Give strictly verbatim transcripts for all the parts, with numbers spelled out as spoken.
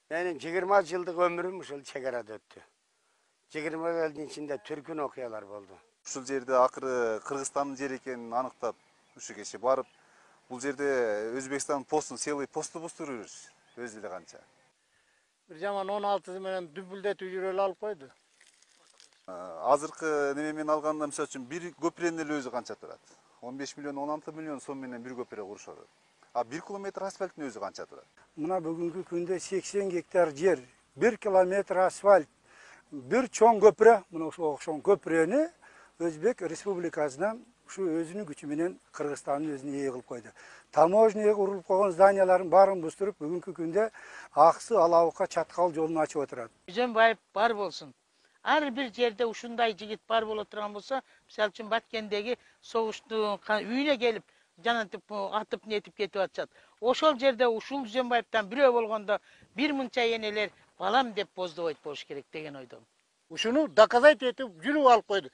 Менин жыйырма жылдык өмүрүм ушул чек арада өттү. жыйырма жылдын ичинде түркүн окуялар болду. Ушул жерде акыры Кыргызстандын жери экенин аныктап, ушу кече барып, бул жерде Өзбекстан постун сыйлый постубузду көрүбүз. Өзү эле канча. Бир жаман он алтысы менен дүбүлдетип жүрө эле алып койду. Азыркы неме менен алганда, мисалы үчүн, бир көпүрөнүн эле өзү канча турат? он беш миллион, он алты миллион сом менен бир көпүрө курушат. А бир километр асфальттын өзү канча турат? Мына бүгүнкү күндө сексен гектар жер, бир километр асфальт, бир чоң көпүрө, мына ошо окшон көпүрөнү Өзбек Республикасынан ушу өзүнүн күчү менен Кыргызстандын өзүнө ээ кылып койду. Таможняга урулуп койгон зданияларын баарын буздуруп, бүгүнкү күндө Аксы Алабукка чаткал жолун ачып отурат. Жөнбаев бар болсун. Ар бир жерде ушундай жигит бар боло турган болсо, мисалы үчүн Баткендеги согуштун үйүнө келип, жанатып атып нетип кетип атышат. Ошол жерде ушул Жөнбаевтан бирөө болгондо бир мынча энелер балам деп боздобойт болуш керек деген ойдомун. Ушуну доказать этип жүрүп алып койду.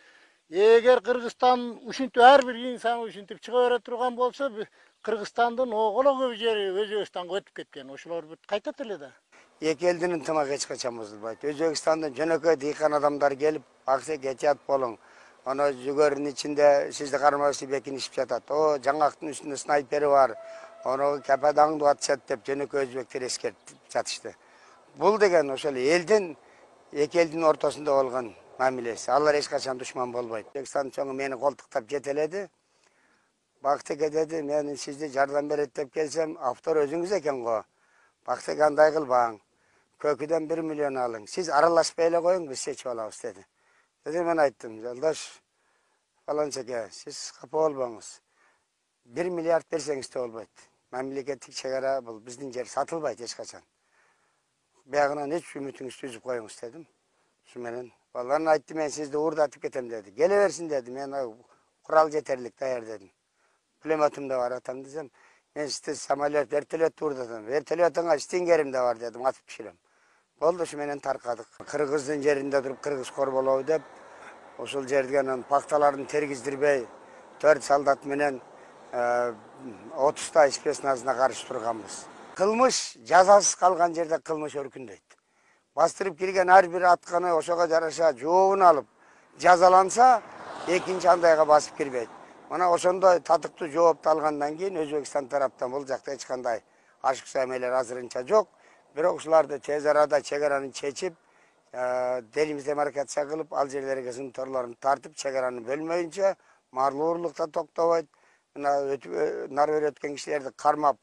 Эгер Кыргызстан ушинтип ар бир инсан ушинтип чыга бере турган болсо, Кыргызстандын оголо көп жери Өзбекстанга өтүп кеткен. Ошолор кайтат эле да. Эки элдин ынтымагы эч качан бузулбайт. Өзбекстандан жөнөкөй дыйкан адамдар келип, аксек этият болуң. Аны жүгөрүнүн ичинде сизди кармакчы бекинишип жатат. О, жаңактын үстүндө снайпери бар. Аны кападаңды атышат деп жөнөкөй өзбектер эскертип жатышты. Бул деген ошол элдин эки элдин ортосунда болгон мамилеси. Алар эч качан душман болбойт. Өзбекстан чоңу мени колтуктап жетеледи. Бактыке деди, мен сизди жардам берет деп келсем, автор өзүңүз экен го. Бактыке андай кылбаң. Көкүдөн бир миллион алың. Сиз аралашпай эле коюң, биз чечип алабыз деди. Деди, мен айттым, жолдош, фаланчеке, сиз капа болбоңуз. бир миллиард берсеңиз да болбойт. Мамлекеттик чек ара бул биздин жер сатылбайт эч качан. Биягынан эч үмүтүңүздү үзүп коюңуз дедим. Ушу менен балаларын айтты, мен сизди уурдатып кетем деди. Келе берсин деди. Мен курал жетерлик даяр дедим. Пулеметим да бар атам десем, мен сизди самолет, вертолет уурдатам. Вертолетуңа стингерим да бар дедим, атып түшүрөм. Болду, ушу менен таркадык. Кыргыздын жеринде туруп кыргыз корболобу деп, ушул жерден пакталарын тергиздирбей, төрт солдат менен отуздай спецназына каршы турганбыз. Кылмыш жазасыз калган жерде кылмыш өркүндөйт. Бастырып кирген ар бир атканы ошого жараша жообун алып жазаланса, экинчи андайга басып кирбейт. Мына ошондой татыктуу жоопту алгандан кийин Өзбекстан тараптан бул жакта эч кандай ашыкча эмелер азырынча жок. Бирок ушуларды тез арада чек араны чечип, делимитемаркация кылып, ал жерлерге сымторлорун тартып, чек араны бөлмөйүнчө марлуурлук да токтобойт. Мына нары бери өткөн кишилерди кармап